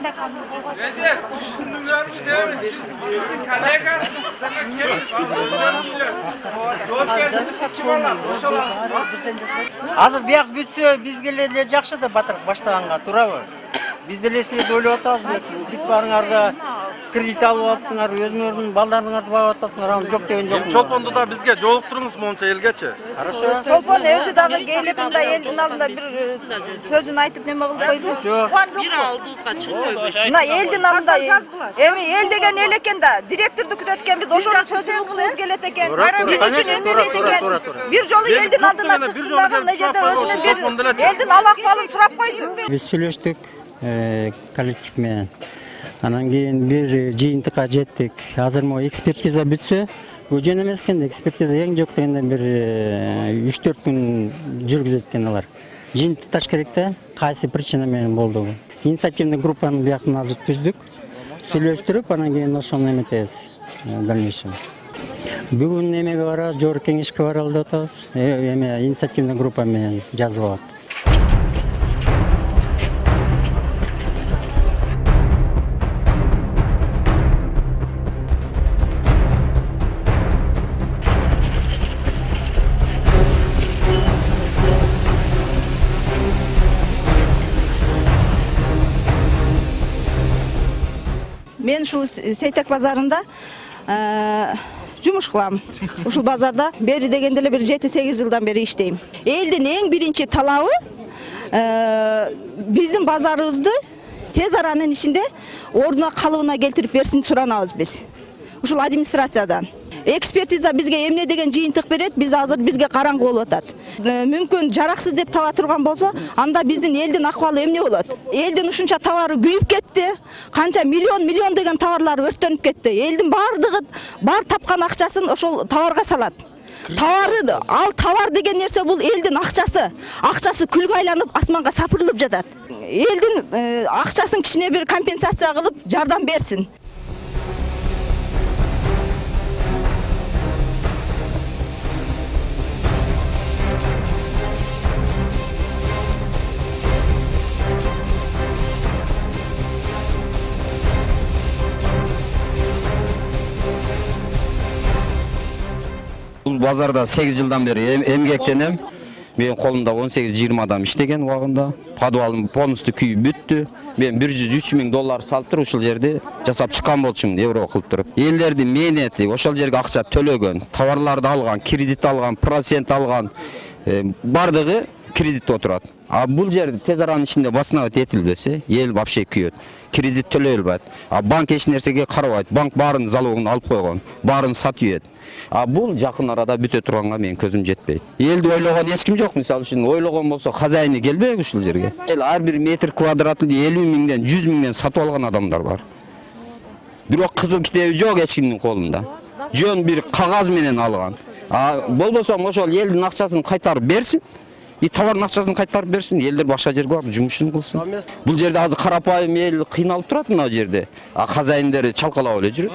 кандай канун болгон? Азыр бияк бүтсө бизге эле жакшы да батыр баштаганга туурабы? Биз деле силерди ойлоп атабыз, бүт барыңарда кредит алып алыптыңар, өзүңөрдүн балдарыңарды багып атасыңар, аны жок деген жок. Чолпонду да бизге жолуктуруңуз монча элгечи. Хорошо. Чолпон өзү дагы келип мындай элдин алдында бир сөзүн айтып неме кылып койсун. Бир алдыбызга чыкпойбуз. Мына элдин алдында эми эл деген эл экен да, директорду күтөт экенбиз, ошонун сөзүн угулубуз келет экен. Биз үчүн эмне дейт экен? Бир жолу элдин алдына чыксын дагы мына жерде өзүнүн бир элдин ал акыбалын сурап койсун. Биз сүйлөштүк коллектив менен. Анан кийин бир жыйынтыкка жеттик. Азыр могу экспертиза бүтсө, жөн эмес экен, экспертиза эң жок дегенде бир 3-4 күн жүргүзөт экен алар. Жыйынтыкташ керек да, кайсы причина менен болду бу. Инициативный группаны бияктан азыр түздүк. Сүйлөштүрүп, анан кийин ошону эметебиз дальнейшем. Бүгүн эмеге барабыз, жогорку кеңешке баралы деп атабыз. Эме инициативный группа менен жазып алат. Мен ушул Сейтек базарында жумуш кылам. Ушул базарда бери дегенде эле бир 7-8 жылдан бери иштейм. Элдин эң биринчи талабы биздин базарыбызды тез аранын ичинде ордуна калыбына келтирип берсин суранабыз биз. Ушул администрациядан. Экспертиза бизге эмне деген жыйынтык берет, биз азыр бизге караңгы болуп атат. Мүмкүн жараксыз деп таба турган болсо, анда биздин элдин акыбалы эмне болот? Элдин ушунча товары күйүп кетти, канча миллион деген товарлар өрттөнүп кетти. Элдин бардыгы бар тапкан акчасын ошол товарга салат. Ал товар деген нерсе бул элдин акчасы. Акчасы күлгө айланып, асманга сапырылып жатат. Элдин акчасын кичине бир компенсация кылып жардам берсин. Бул базарда 8 жылдан бери эмгектенем. Менин колумда 18-20 адам иштеген убагында. Подвалым полностью күйүп бүттү. Мен $103 000 салып туруп ушул жерди жасап чыккан болчумун, евро кылып туруп. Элдердин мээнети ошол жерге акча төлөгөн, товарларды алган, кредит алган, процент алган, бардыгы кредитте отурат. А бул жерди тез аранын ичинде басынабыт этилбесе, эл вообще күйөт. Кредит төлөй албайт. А банк эч нерсеге карабайт. Банк баарын залогун алып койгон, баарын сатып ийет. А бул жакын арада бүтө турганга менин көзүм жетпейт. Элди ойлогон эч ким жок. Мисалы үчүн ойлогон болсо, хозяйны келбек ушул жерге. Ар бир метр квадратын 50 000-ден 100 000-ден сатып алган адамдар бар. Бирок кызыл китеби жок эч кимдин колунда. Жөн бир кагаз менен алган. А болбосо ошол элдин акчасын кайтарып берсин. Товардын акчасын кайтарып берсин, элдер башка жерге барып жумушун кылсын. Бул жерде азыр карапайым эл кыйналып турат мына жерде. А хозяиндери чалкалап эле жүрөт.